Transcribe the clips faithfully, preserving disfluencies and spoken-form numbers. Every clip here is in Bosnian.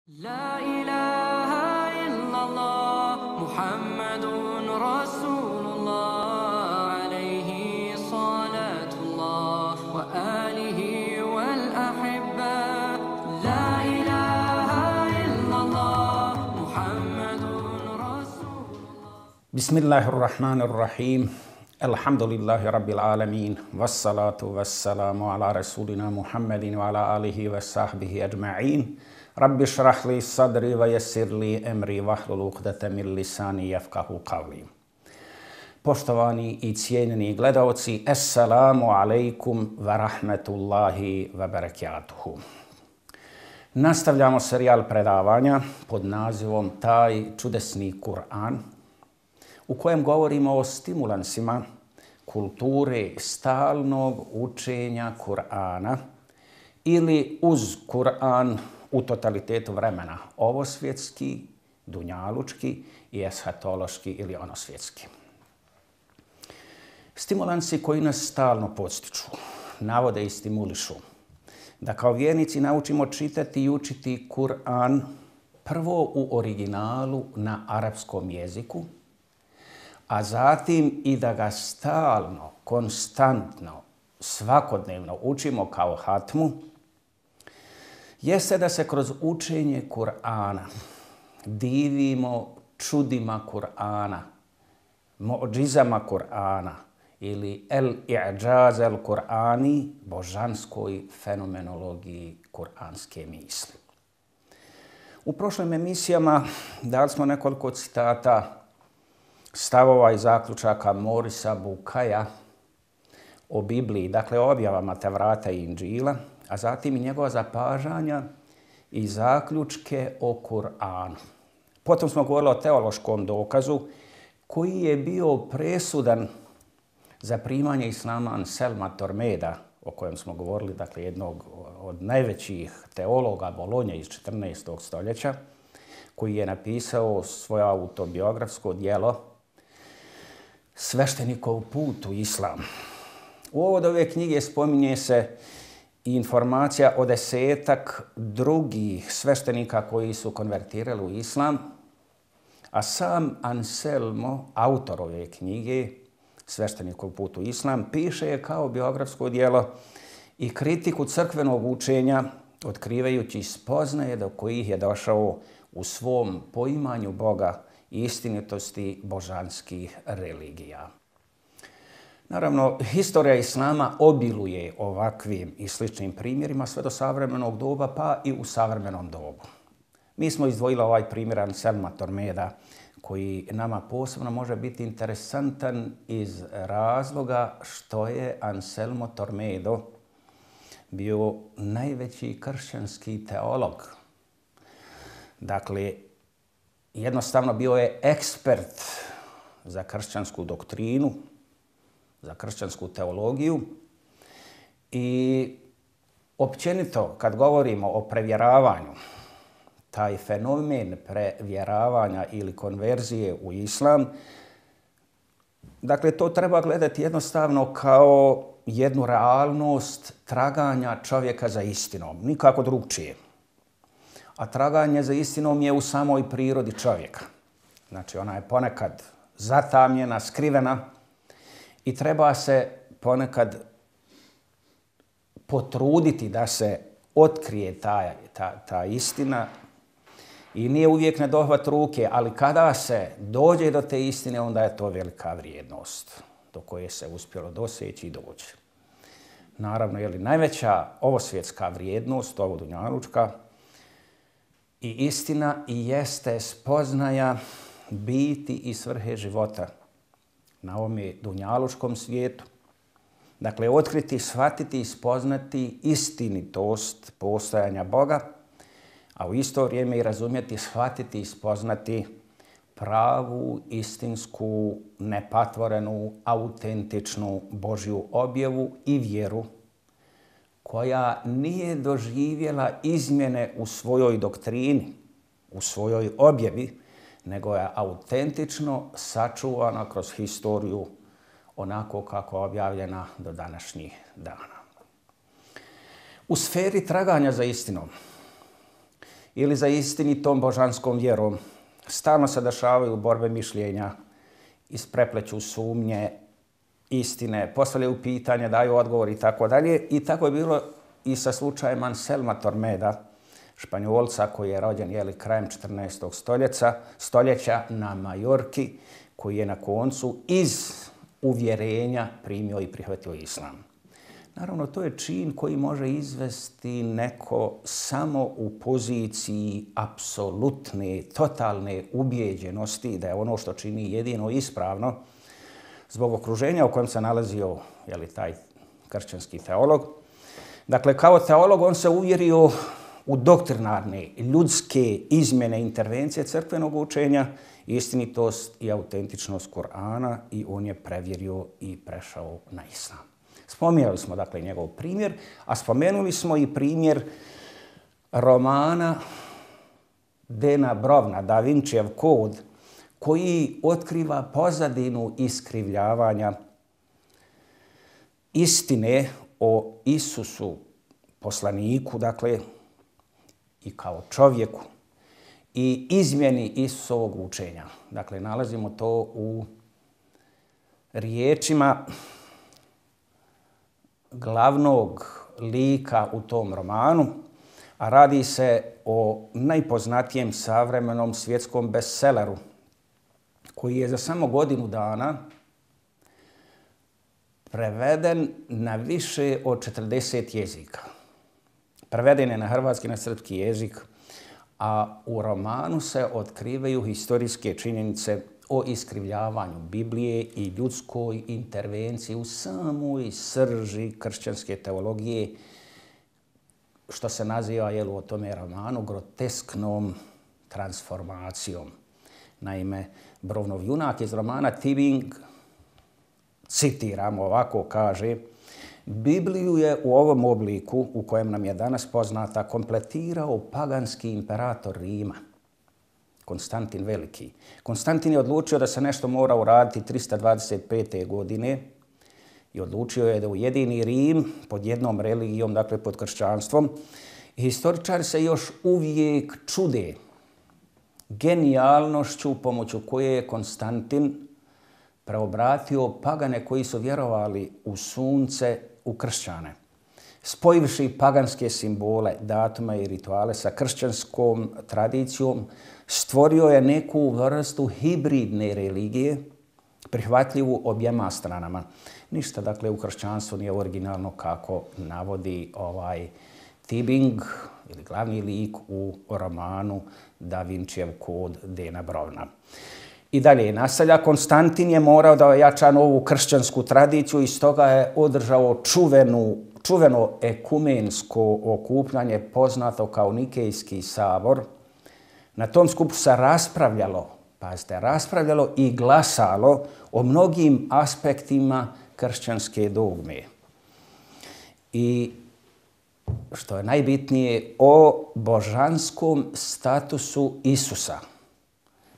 لا إله إلا الله محمد رسول الله عليه صلاة الله وآله والأحبة لا إله إلا الله محمد رسول الله بسم الله الرحمن الرحيم الحمد لله رب العالمين والصلاة والسلام على رسولنا محمد وعلى آله وصحبه أجمعين رب اشرح لي صدري ويسر لي امري واحلل عقدة من lisani yafqahu qawli. Poštovani i cijenjeni gledaoci, assalamu alaikum wa rahmetullahi wa barakatuhu. Nastavljamo serijal predavanja pod nazivom Taj čudesni Kur'an, u kojem govorimo o stimulansima kulture stalnog učenja Kur'ana ili uz Kur'an u totalitetu vremena, ovosvjetski, dunjalučki i eshatološki ili onosvjetski. Stimulansi koji nas stalno podstiču, navode i stimulišu da kao vjernici naučimo čitati i učiti Kur'an prvo u originalu na arapskom jeziku, a zatim i da ga stalno, konstantno, svakodnevno učimo kao hatmu, jeste da se kroz učenje Kur'ana divimo čudima Kur'ana, mu'džizama Kur'ana ili el-i'đaz el-Kur'ani, božanskoj fenomenologiji kur'anske misli. U prošlim emisijama dali smo nekoliko citata, stavova i zaključaka Morisa Bukaja o Bibliji, dakle o objavama Tevrata i Inđila, a zatim i njegova zapažanja i zaključke o Kur'anu. Potom smo govorili o teološkom dokazu koji je bio presudan za primanje islama Anselma Tormeda, o kojem smo govorili, dakle jednog od najvećih teologa Bolonje iz četrnaestog stoljeća, koji je napisao svoje autobiografsko djelo Sveštenikov put u islam. U ovoj ove knjige spominje se i informacija o desetak drugih sveštenika koji su konvertirali u islam, a sam Anselmo, autor ove knjige, Sveštenikov put u islam, piše je kao biografsko djelo i kritiku crkvenog učenja, otkrivajući spoznaje do kojih je došao u svom poimanju Boga i istinitosti božanskih religija. Naravno, historija islama obiluje ovakvim i sličnim primjerima sve do savremenog doba, pa i u savremenom dobu. Mi smo izdvojili ovaj primjer Anselma Tormeda, koji nama posebno može biti interesantan iz razloga što je Anselmo Tormedo bio najveći kršćanski teolog. Dakle, jednostavno bio je ekspert za kršćansku doktrinu, za kršćansku teologiju i općenito kad govorimo o prevjeravanju, taj fenomen prevjeravanja ili konverzije u islam, dakle to treba gledati jednostavno kao jednu realnost traganja čovjeka za istinom, nikako drugčije. A traganje za istinom je u samoj prirodi čovjeka. Znači ona je ponekad zatamnjena, skrivena, i treba se ponekad potruditi da se otkrije ta, ta, ta istina i nije uvijek na dohvat ruke, ali kada se dođe do te istine, onda je to velika vrijednost do koje se uspjelo doseći i doći. Naravno, je li najveća ovosvjetska vrijednost, ovo dunjalučka, i istina i jeste spoznaja biti i svrhe života na ovome dunjalučkom svijetu. Dakle, otkriti, shvatiti i spoznati istinitost postojanja Boga, a u isto vrijeme i razumjeti, shvatiti i spoznati pravu, istinsku, nepatvorenu, autentičnu Božju objavu i vjeru koja nije doživjela izmjene u svojoj doktrini, u svojoj objavi, nego je autentično sačuvana kroz historiju onako kako je objavljena do današnjih dana. U sferi traganja za istinom ili za istinitom božanskom vjerom. Stalno se dešavaju borbe mišljenja, isprepleću sumnje, istine, postavljaju pitanja, daju odgovor i tako dalje. I tako je bilo i sa slučajem Anselma Tormeda, Španjolca koji je rođen jeli, krajem četrnaestog stoljeća, stoljeća na Majorki, koji je na koncu iz uvjerenja primio i prihvatio islam. Naravno, to je čin koji može izvesti neko samo u poziciji apsolutne, totalne ubijeđenosti da je ono što čini jedino ispravno zbog okruženja u kojem se nalazio jeli, taj kršćanski teolog. Dakle, kao teolog on se uvjerio u doktrinarne, ljudske izmjene, intervencije crkvenog učenja, istinitost i autentičnost Kur'ana i on je prevjerio i prešao na islam. Spomenuli smo dakle njegov primjer, a spomenuli smo i primjer romana Dana Browna, Da Vincijev kod, koji otkriva pozadinu iskrivljavanja istine o Isusu, poslaniku, dakle, i kao čovjeku, i izmjeni Isusovog učenja. Dakle, nalazimo to u riječima glavnog lika u tom romanu, a radi se o najpoznatijem savremenom svjetskom bestselleru, koji je za samo godinu dana preveden na više od četrdeset jezika. Preveden je na hrvatski, na srpski jezik, a u romanu se otkrivaju historijske činjenice o iskrivljavanju Biblije i ljudskoj intervenciji u samoj srži kršćanske teologije, što se naziva jel, u tome romanu grotesknom transformacijom. Naime, Brownov junak iz romana Tibing, citiram, ovako kaže: Bibliju je u ovom obliku, u kojem nam je danas poznata, kompletirao paganski imperator Rima, Konstantin Veliki. Konstantin je odlučio da se nešto mora uraditi trista dvadeset pete. godine i odlučio je da ujedini Rim pod jednom religijom, dakle pod kršćanstvom. I historičari se još uvijek čude genijalnošću pomoću koje je Konstantin preobratio pagane koji su vjerovali u sunce u kršćane. Spojivši paganske simbole, datume i rituale sa kršćanskom tradicijom, stvorio je neku vrstu hibridne religije, prihvatljivu objema stranama. Ništa, dakle, u kršćanstvu nije originalno kako navodi ovaj Tibing, ili glavni lik u romanu Da Vincijev kod Dana Browna. I dalje nastavlja, Konstantin je morao da ojača novu kršćansku tradiciju i stoga je održao čuvenu, čuveno ekumensko okupljanje poznato kao Nikejski sabor. Na tom skupu se raspravljalo, pazite, raspravljalo i glasalo o mnogim aspektima kršćanske dogme. I što je najbitnije, o božanskom statusu Isusa.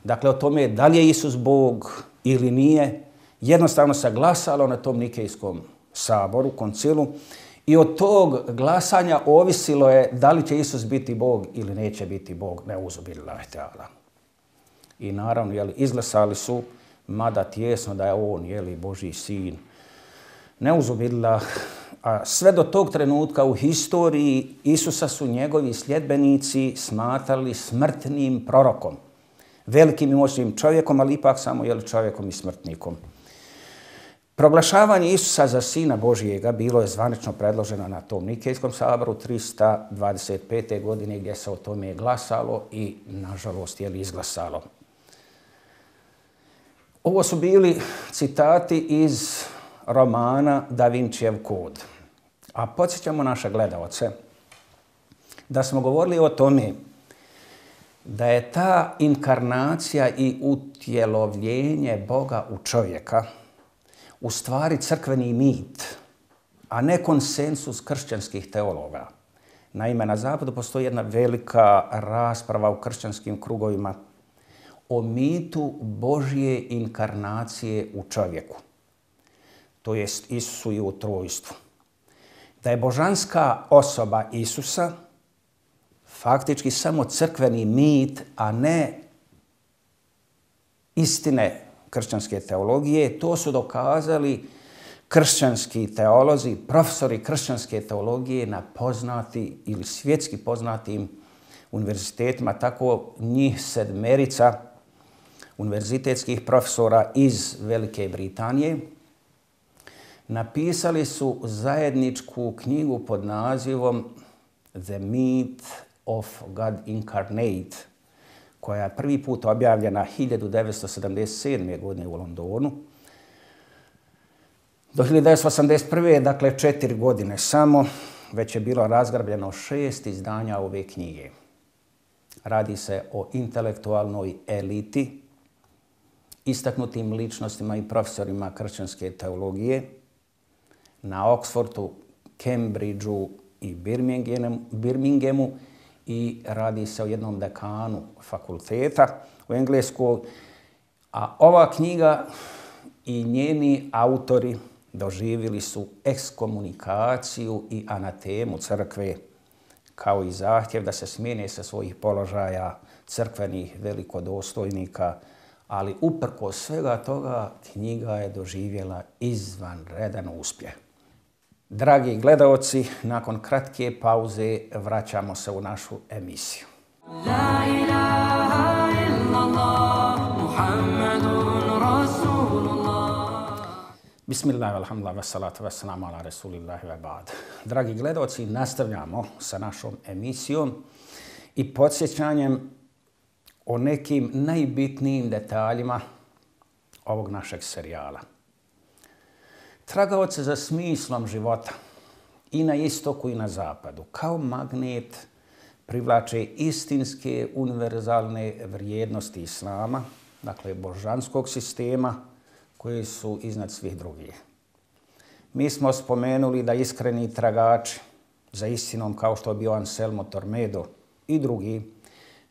Dakle, o tome da li je Isus Bog ili nije, jednostavno se glasalo na tom Nikejskom saboru, koncilu, i od tog glasanja ovisilo je da li će Isus biti Bog ili neće biti Bog, neuzubillahi ta'ala. I naravno, jeli, izglasali su, mada tjesno da je on, jeli, Božji sin, neuzubillah. A sve do tog trenutka u historiji Isusa su njegovi sljedbenici smatrali smrtnim prorokom, velikim i moćnim čovjekom, ali ipak samo jeli, čovjekom i smrtnikom. Proglašavanje Isusa za sina Božijega bilo je zvanično predloženo na tom Nikejskom saboru trista dvadeset pete. godine gdje se o tome glasalo i, nažalost, je li izglasalo. Ovo su bili citati iz romana Da Vincijev kod. A podsjećamo naše gledalce da smo govorili o tome da je ta inkarnacija i utjelovljenje Boga u čovjeka u stvari crkveni mit, a ne konsensus kršćanskih teologa. Naime, na zapadu postoji jedna velika rasprava u kršćanskim krugovima o mitu Božje inkarnacije u čovjeku, to jest Isusu i u trojstvu. Da je božanska osoba Isusa faktički samo crkveni mit, a ne istine kršćanske teologije. To su dokazali kršćanski teolozi, profesori kršćanske teologije na poznati ili svjetski poznatim univerzitetima, tako njih sedmerica univerzitetskih profesora iz Velike Britanije. Napisali su zajedničku knjigu pod nazivom The Myth of God Incarnate, koja je prvi put objavljena hiljadu devetsto sedamdeset sedme. godine u Londonu. Do hiljadu devetsto osamdeset prve. dakle četiri godine samo, već je bilo razgrabljeno šest izdanja ove knjige. Radi se o intelektualnoj eliti, istaknutim ličnostima i profesorima kršćanske teologije na Oxfordu, Cambridgeu i Birminghamu i radi se o jednom dekanu fakulteta u Engleskoj. A ova knjiga i njeni autori doživjeli su ekskomunikaciju i anatemu crkve, kao i zahtjev da se smijene sa svojih položaja crkvenih velikodostojnika, ali uprkos svega toga knjiga je doživjela izvanredan uspjeh. Dragi gledaoci, nakon kratke pauze vraćamo se u našu emisiju. La ilaha illallah, Muhammadun Rasulullah. Bismillah, alhamdulillah, wassalatu wassalamu ala rasulillahi wa ba'd. Dragi gledaoci, nastavljamo sa našom emisijom i podsjećanjem o nekim najbitnijim detaljima ovog našeg serijala. Tragaoce za smislom života i na istoku i na zapadu, kao magnet, privlače istinske univerzalne vrijednosti islama, dakle božanskog sistema, koji su iznad svih drugih. Mi smo spomenuli da iskreni tragači za istinom, kao što je bio Anselmo Tormedo i drugi,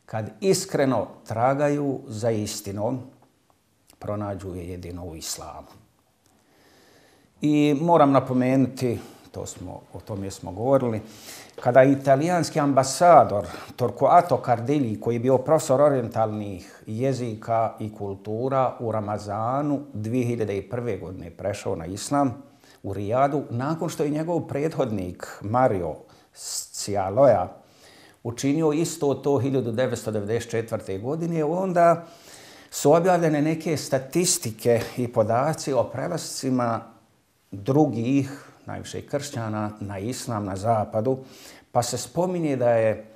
kad iskreno tragaju za istinom, pronađu je jedino u islamu. I moram napomenuti, to smo, o tome smo govorili, kada italijanski ambasador Torquato Cardelli, koji je bio profesor orijentalnih jezika i kultura, u Ramazanu dvije hiljade prve. godine prešao na islam u Rijadu, nakon što je njegov prethodnik Mario Scialoja učinio isto to hiljadu devetsto devedeset četvrte. godine, onda su objavljene neke statistike i podaci o prelascima drugih, najviše kršćana, na islam na zapadu, pa se spominje da je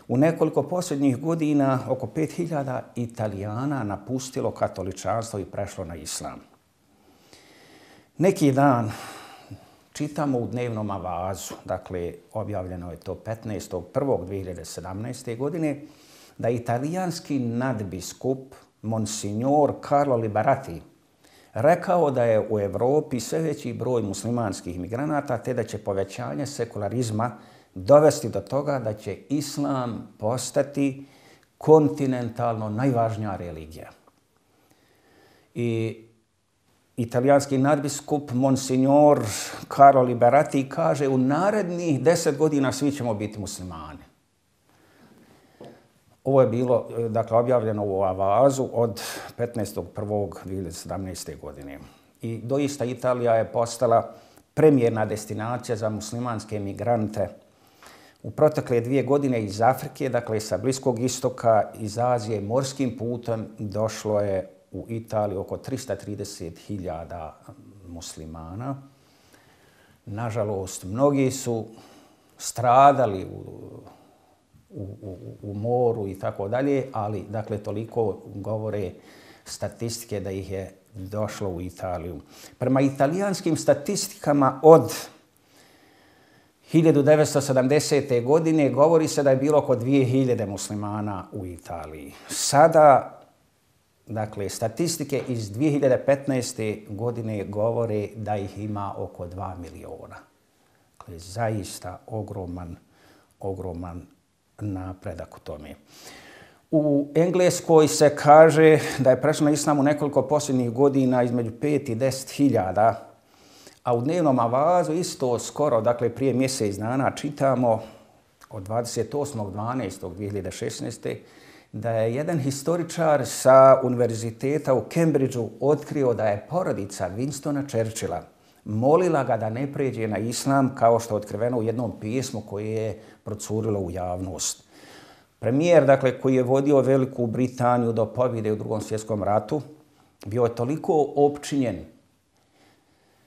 u nekoliko posljednjih godina oko pet hiljada Italijana napustilo katoličanstvo i prešlo na islam. Neki dan čitamo u dnevnom avazu, dakle objavljeno je to petnaestog prvog dvije hiljade sedamnaeste. godine, da italijanski nadbiskup Monsignor Carlo Liberati rekao da je u Evropi sve veći broj muslimanskih migranata, te da će povećanje sekularizma dovesti do toga da će islam postati kontinentalno najvažnija religija. I italijanski nadbiskup Monsignor Carlo Liberati kaže: u narednih deset godina svi ćemo biti muslimani. Ovo je bilo, dakle, objavljeno u avazu od petnaestog prvog dvije hiljade sedamnaeste. godine. I doista Italija je postala premijerna destinacija za muslimanske migrante. U protekle dvije godine iz Afrike, dakle sa Bliskog istoka, iz Azije, morskim putem došlo je u Italiju oko trista trideset hiljada muslimana. Nažalost, mnogi su stradali u U, u, u moru i tako dalje, ali dakle toliko govore statistike da ih je došlo u Italiju. Prema italijanskim statistikama od hiljadu devetsto sedamdesete. godine govori se da je bilo oko dvije hiljade muslimana u Italiji. Sada, dakle, statistike iz dvije hiljade petnaeste. godine govore da ih ima oko dva miliona. Dakle, zaista ogroman, ogroman napredak u tome. U Engleskoj se kaže da je prešlo na islam u nekoliko posljednjih godina između pet i deset hiljada, a u dnevnom avazu isto skoro, dakle prije mjesec dana, čitamo od dvadeset osmog dvanaestog dvije hiljade šesnaeste. da je jedan historičar sa univerziteta u Cambridgeu otkrio da je porodica Winstona Churchilla molila ga da ne pređe na islam, kao što je otkriveno u jednom pismu koje je procurilo u javnost. Premijer, dakle, koji je vodio Veliku Britaniju do pobjede u Drugom svjetskom ratu, bio je toliko opčinjen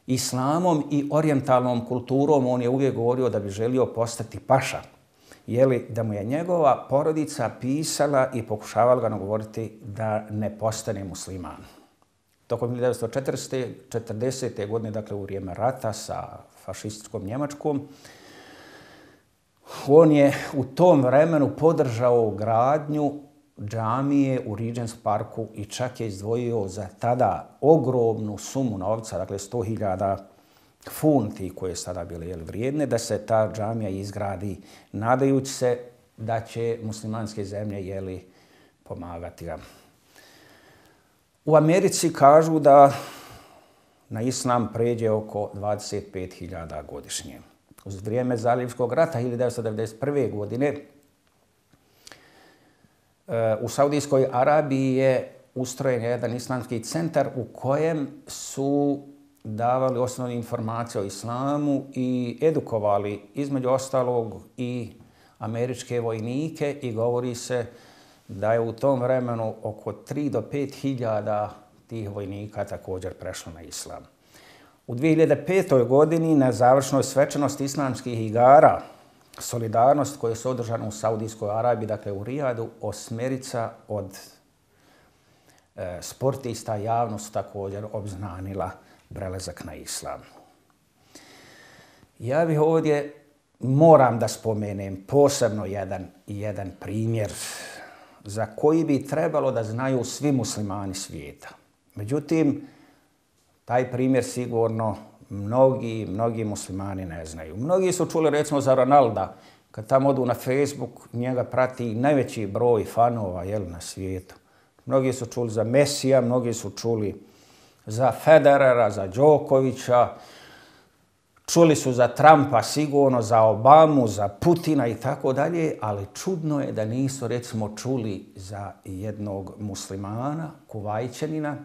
islamom i orijentalnom kulturom, on je uvijek govorio da bi želio postati paša. Jeli, da mu je njegova porodica pisala i pokušavala ga nagovoriti da ne postane musliman. Tokom hiljadu devetsto četrdesete. godine, dakle u vrijeme rata sa fašističkom Njemačkom, on je u tom vremenu podržao gradnju džamije u Regents Parku i čak je izdvojio za tada ogromnu sumu novca, dakle sto hiljada funti koje su tada bile jeli, vrijedne, da se ta džamija izgradi, nadajući se da će muslimanske zemlje jeli, pomagati ga. U Americi kažu da na islam pređe oko dvadeset pet hiljada godišnje. Uz vrijeme Zaljevskog rata hiljadu devetsto devedeset prve. godine u Saudijskoj Arabiji je ustrojen jedan islamski centar u kojem su davali osnovne informacije o islamu i edukovali između ostalog i američke vojnike i govori se da je u tom vremenu oko tri do pet hiljada tih vojnika također prešlo na islam. U dvije hiljade petoj. godini na završnoj svečanosti islamskih igara Solidarnost koje su održane u Saudijskoj Arabiji, dakle u Rijadu, osmerica od e, sportista javnost također obznanila prelazak na islam. Ja bih ovdje moram da spomenem posebno jedan, jedan primjer za koji bi trebalo da znaju svi muslimani svijeta. Međutim, taj primjer sigurno mnogi, mnogi muslimani ne znaju. Mnogi su čuli recimo za Ronalda, kad tamo odu na Facebook, njega prati najveći broj fanova jel, na svijetu. Mnogi su čuli za Mesija, mnogi su čuli za Federera, za Đokovića, čuli su za Trumpa sigurno, za Obamu, za Putina i tako dalje, ali čudno je da nisu recimo čuli za jednog muslimana, Kuvajćanina,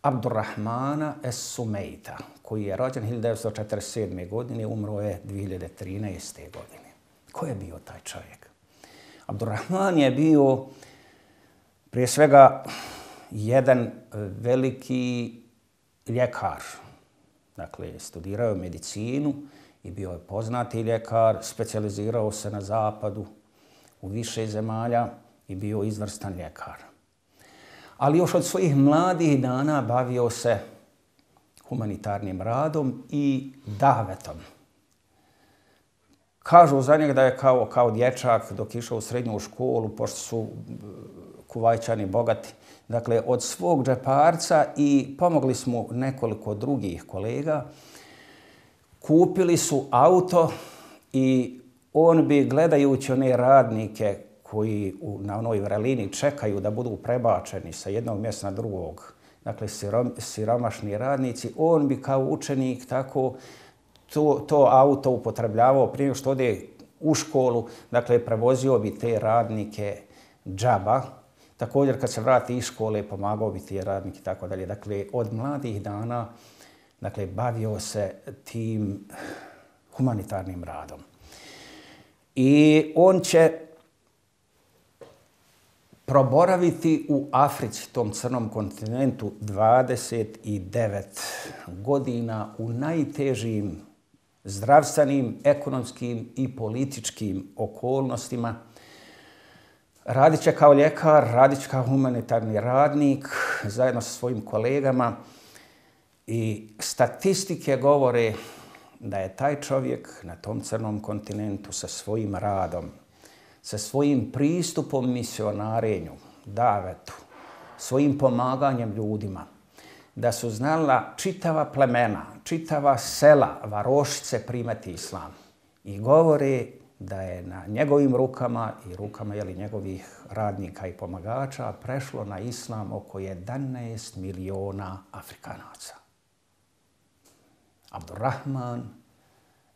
Abdurrahmana Es-Sumeita, koji je rođen hiljadu devetsto četrdeset sedme. godine, umro je dvije hiljade trinaeste. godine. Ko je bio taj čovjek? Abdurrahman je bio prije svega jedan veliki ljekar. Dakle, studirao je medicinu i bio je poznati ljekar, specijalizirao se na zapadu u više zemalja i bio izvrstan ljekar. Ali još od svojih mladih dana bavio se humanitarnim radom i davetom. Kažu za njega da je kao, kao dječak dok išao u srednju školu, pošto su Kuvajćani bogati, dakle od svog džeparca i pomogli smo nekoliko drugih kolega, kupili su auto i on bi gledajući one radnike koji u, na onoj vrelini čekaju da budu prebačeni sa jednog mjesta na drugog, dakle sirom, siromašni radnici, on bi kao učenik tako to, to auto upotrebljavao prije što ode u školu, dakle prevozio bi te radnike džaba. Također kad se vrati iz škole pomagao bi ti radnike i tako dalje. Dakle, od mladih dana dakle, bavio se tim humanitarnim radom. I on će proboraviti u Africi, tom crnom kontinentu, dvadeset devet godina u najtežim zdravstvenim, ekonomskim i političkim okolnostima. Radit će kao ljekar, radit će kao humanitarni radnik zajedno sa svojim kolegama i statistike govore da je taj čovjek na tom crnom kontinentu sa svojim radom, sa svojim pristupom misionarenju, davetu, svojim pomaganjem ljudima, da su znala čitava plemena, čitava sela, varošice primati islam. I govore da je na njegovim rukama i rukama jeli, njegovih radnika i pomagača prešlo na islam oko jedanaest miliona Afrikanaca. Abdurrahman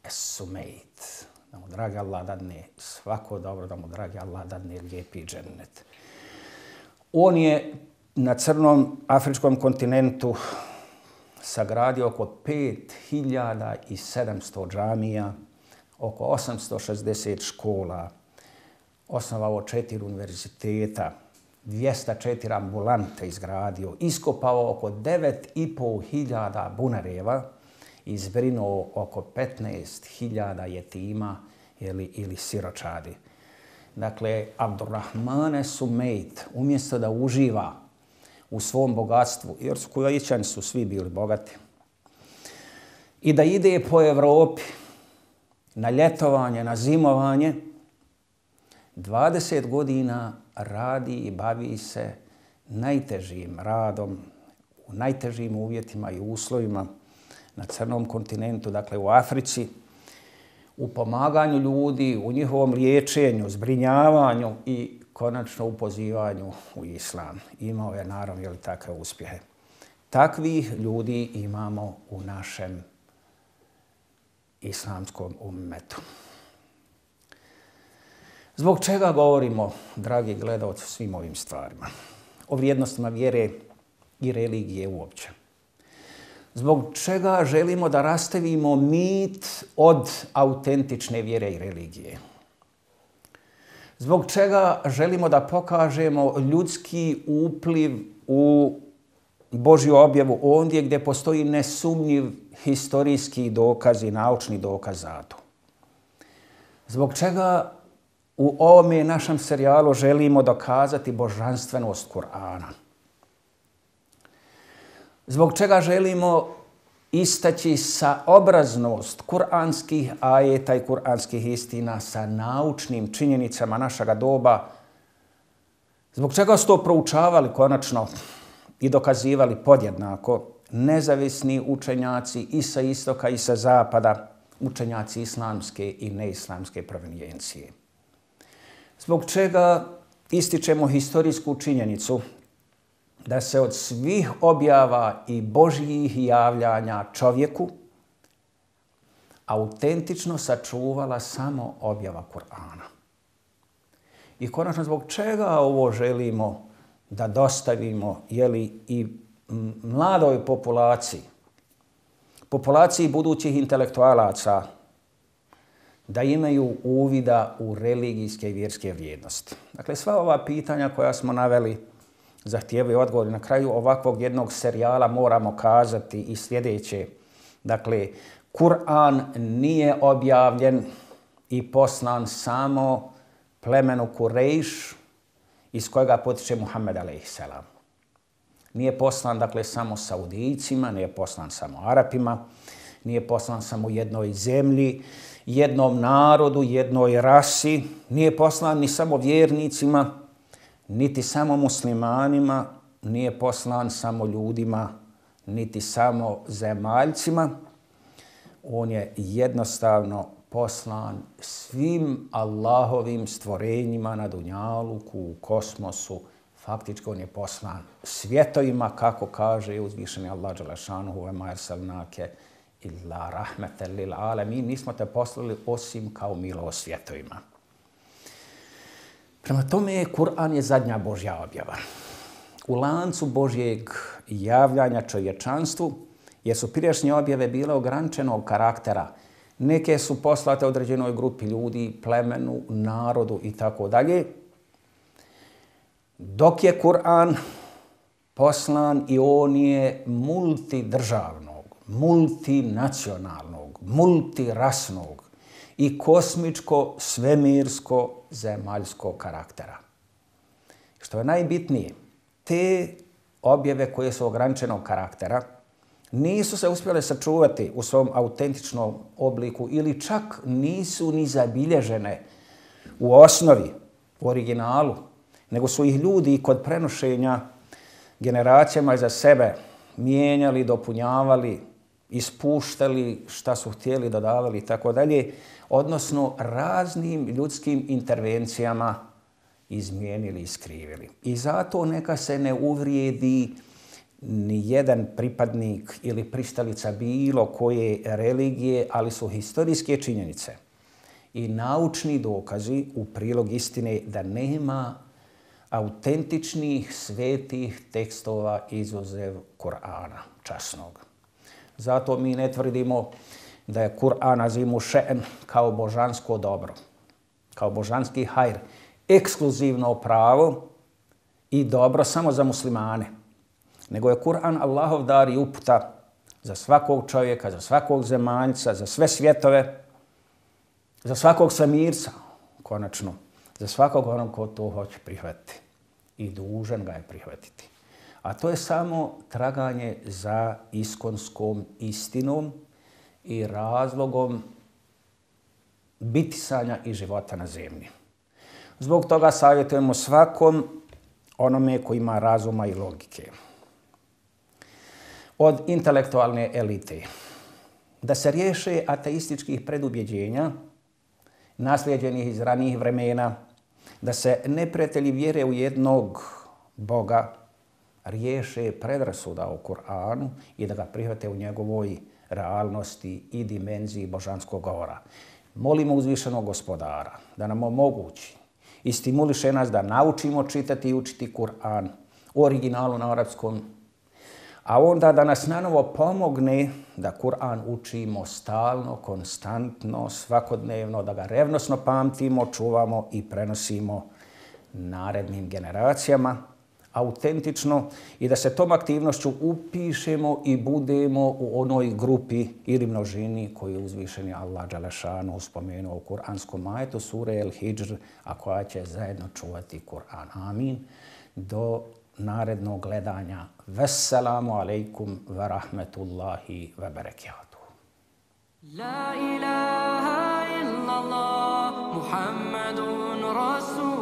Es-Sumeit. da mu dragi Allah dadne svako dobro, da mu dragi Allah dadne lijepi džennet. On je na crnom afričkom kontinentu sagradio oko pet hiljada sedamsto džamija, oko osamsto šezdeset škola, osnovao četiri univerziteta, dvjesto četiri ambulante izgradio, iskopao oko devet i pol hiljada bunareva i zbrinuo oko petnaest hiljada jetima ili, ili siročadi. Dakle, Abdurrahmane Sumejt, umjesto da uživa u svom bogatstvu, jer su Kuvajćani su svi bili bogati, i da ide po Evropi na ljetovanje, na zimovanje, dvadeset godina radi i bavi se najtežim radom, u najtežim uvjetima i uslovima na crnom kontinentu, dakle u Africi, u pomaganju ljudi, u njihovom liječenju, zbrinjavanju i konačno u pozivanju u islam. Imao je naravno ili takve uspjehe. Takvih ljudi imamo u našem islamskom ummetu. Zbog čega govorimo, dragi gledalci, o svim ovim stvarima? O vrijednostima vjere i religije uopće. Zbog čega želimo da rastavimo mit od autentične vjere i religije? Zbog čega želimo da pokažemo ljudski upliv u Božju objavu ondje gdje postoji nesumnjiv historijski dokaz i naučni dokaz za to? Zbog čega u ovome našem serijalu želimo dokazati božanstvenost Kur'ana? Zbog čega želimo istaći saobraznost kuranskih ajeta i kuranskih istina sa naučnim činjenicama našega doba? Zbog čega su to proučavali konačno i dokazivali podjednako nezavisni učenjaci i sa istoka i sa zapada, učenjaci islamske i neislamske provenijencije? Zbog čega ističemo historijsku činjenicu da se od svih objava i Božjih javljanja čovjeku autentično sačuvala samo objava Kur'ana? I konačno, zbog čega ovo želimo da dostavimo jeli, i mladoj populaciji, populaciji budućih intelektualaca, da imaju uvida u religijske i vjerske vrijednosti? Dakle, sva ova pitanja koja smo naveli zahtijevaju odgovor. Na kraju ovakvog jednog serijala moramo kazati i sljedeće. Dakle, Kur'an nije objavljen i poslan samo plemenu Kurejš iz kojega potiče Muhammed alejhiselam. Nije poslan, dakle, samo Saudijcima, nije poslan samo Arapima, nije poslan samo jednoj zemlji, jednom narodu, jednoj rasi, nije poslan ni samo vjernicima, niti samo muslimanima, nije poslan samo ljudima, niti samo zemaljcima. On je jednostavno poslan svim Allahovim stvorenjima na dunjaluku, u kosmosu. Faktički on je poslan svjetovima, kako kaže uzvišeni Allah dželle šanuhu ve ma arsalnake illa rahmeten lil alemin. Nismo te poslali osim kao milost svjetovima. Prema tome, Kur'an je zadnja Božja objava. U lancu Božjeg javljanja čovječanstvu, jer su prijašnje objave bile ograničenog karaktera. Neke su poslate određenoj grupi ljudi, plemenu, narodu i tako dalje. Dok je Kur'an poslan i on je multidržavnog, multinacionalnog, multirasnog i kosmičko, svemirsko, zemaljskog karaktera. Što je najbitnije, te objave koje su ograničenog karaktera nisu se uspjele sačuvati u svom autentičnom obliku ili čak nisu ni zabilježene u osnovi, u originalu, nego su ih ljudi kod prenošenja generacijama iza sebe mijenjali, dopunjavali, ispuštali šta su htjeli, dodavali i tako dalje, odnosno raznim ljudskim intervencijama izmijenili i skrivili. I zato neka se ne uvrijedi ni jedan pripadnik ili pristalica bilo koje religije, ali su historijske činjenice i naučni dokazi u prilog istine da nema autentičnih svetih tekstova izuzev Kur'ana časnog. Zato mi ne tvrdimo da je Kur'an azimu še'n kao božansko dobro, kao božanski hajr, ekskluzivno pravo i dobro samo za muslimane, nego je Kur'an Allahov dar i uputa za svakog čovjeka, za svakog zemaljca, za sve svjetove, za svakog samirca, konačno, za svakog onog ko to hoće prihvatiti i dužan ga je prihvatiti. A to je samo traganje za iskonskom istinom i razlogom bitisanja i života na zemlji. Zbog toga savjetujemo svakom onome koji ima razuma i logike od intelektualne elite da se riješe ateističkih predubjeđenja naslijeđenih iz ranijih vremena, da se neprijatelji vjere u jednog Boga riješe predrasuda o Kur'anu i da ga prihvate u njegovoj realnosti i dimenziji božanskog govora. Molimo uzvišenog Gospodara da nam omogući i stimuliše nas da naučimo čitati i učiti Kur'an u originalu na arapskom, a onda da nas nanovo pomogne da Kur'an učimo stalno, konstantno, svakodnevno, da ga revnosno pamtimo, čuvamo i prenosimo narednim generacijama, autentično i da se tom aktivnošću upišemo i budemo u onoj grupi ili množini koju je uzvišeni Allah dželešanu spomenuo u kuranskom ajetu sure El Hidžr, a koja će zajedno čuvati Kur'an. Amin. Do narednog gledanja. Vesselamu alaikum wa rahmetullahi wa barakatuh. La ilaha illallah Muhammadun Rasul